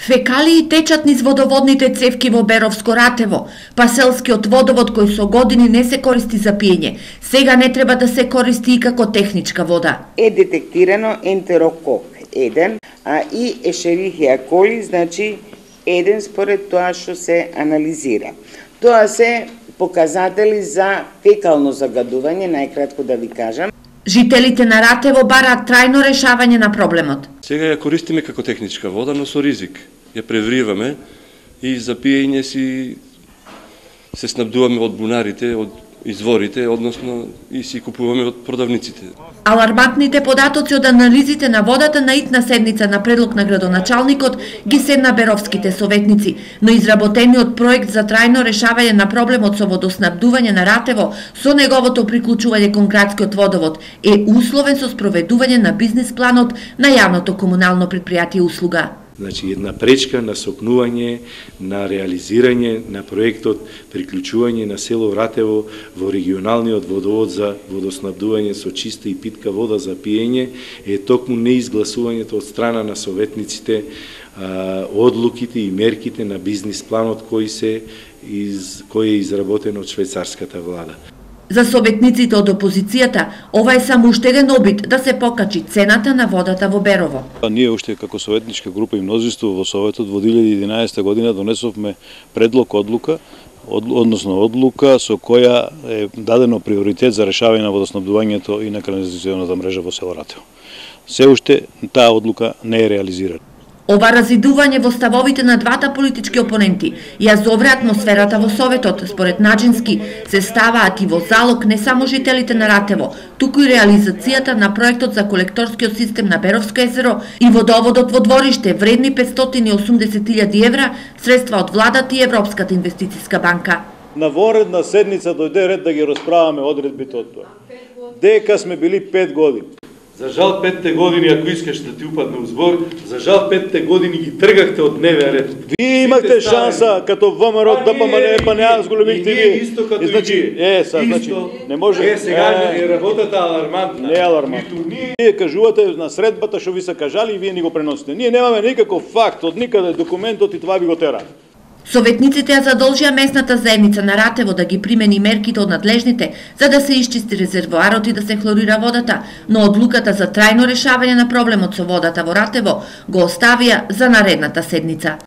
Фекалии течат низ водоводните цевки во Беровско Ратево, па селскиот водовод кој со години не се користи за пиење, сега не треба да се користи и како техничка вода. Е детектирано ентерокок 1, а и ешерихија коли, значи 1 според тоа што се анализира. Тоа се показатели за фекално загадување, најкратко да ви кажам. Жителите на Ратево бараат трајно решавање на проблемот. Сега ја користиме како техничка вода, но со ризик. Ја превриваме и за пиење си се снабдуваме од бунарите, од изворите, односно и си купуваме од продавниците. Алармантните податоци од анализите на водата на итна седница на предлог на градоначалникот ги седна беровските советници, но изработениот проект за трајно решавање на проблемот со водоснабдување на Ратево со неговото приклучување кон градскиот водовод е условен со спроведување на бизнис планот на јавното комунално предпријатие услуга. Значи, една пречка на сокнување, на реализирање на проектот приклучување на село Ратево во регионалниот водовод за водоснабдување со чиста и питка вода за пиење е токму неизгласувањето од страна на советниците, одлуките и мерките на бизнис планот кој е изработен од швајцарската влада. За советниците од опозицијата, ова е само уште еден обид да се покачи цената на водата во Берово. Ние уште како советничка група и мнозинство во Советот во 2011 година донесовме предлог одлука, одлука со која е дадено приоритет за решавање на водоснабдувањето и на канализационата мрежа во село Ратево. Се уште таа одлука не е реализирана. Ова разидување во ставовите на двата политички опоненти ја зовре атмосферата во Советот. Според Наџински се ставаат и во залог не само жителите на Ратево, туку и реализацијата на проектот за колекторскиот систем на Беровско езеро и водоводот во двориште вредни 580.000 евра, средства од владата и Европската инвестициска банка. На воредна седница дојде ред да ги расправаме одредбите од тоа. Дека сме били 5 години. За жал 5-те години, ако искаш да ти упадне узбор, за жал 5-те години ги тргахте од дневен ред. Вие имахте шанса като ВМРО да па не зголемихте вие. Исто като и вие. Значи, не може. Сега е работата алармантна. Не е алармантна. Вие кажувате на средбата што ви се кажали и вие ни го преносите. Ние немаме никаков факт од никаде документот и това би го тера. Советниците ја задолжија местната заедница на Ратево да ги примени мерките од надлежните за да се исчисти резервоарот и да се хлорира водата, но одлуката за трајно решавање на проблемот со водата во Ратево го оставија за наредната седница.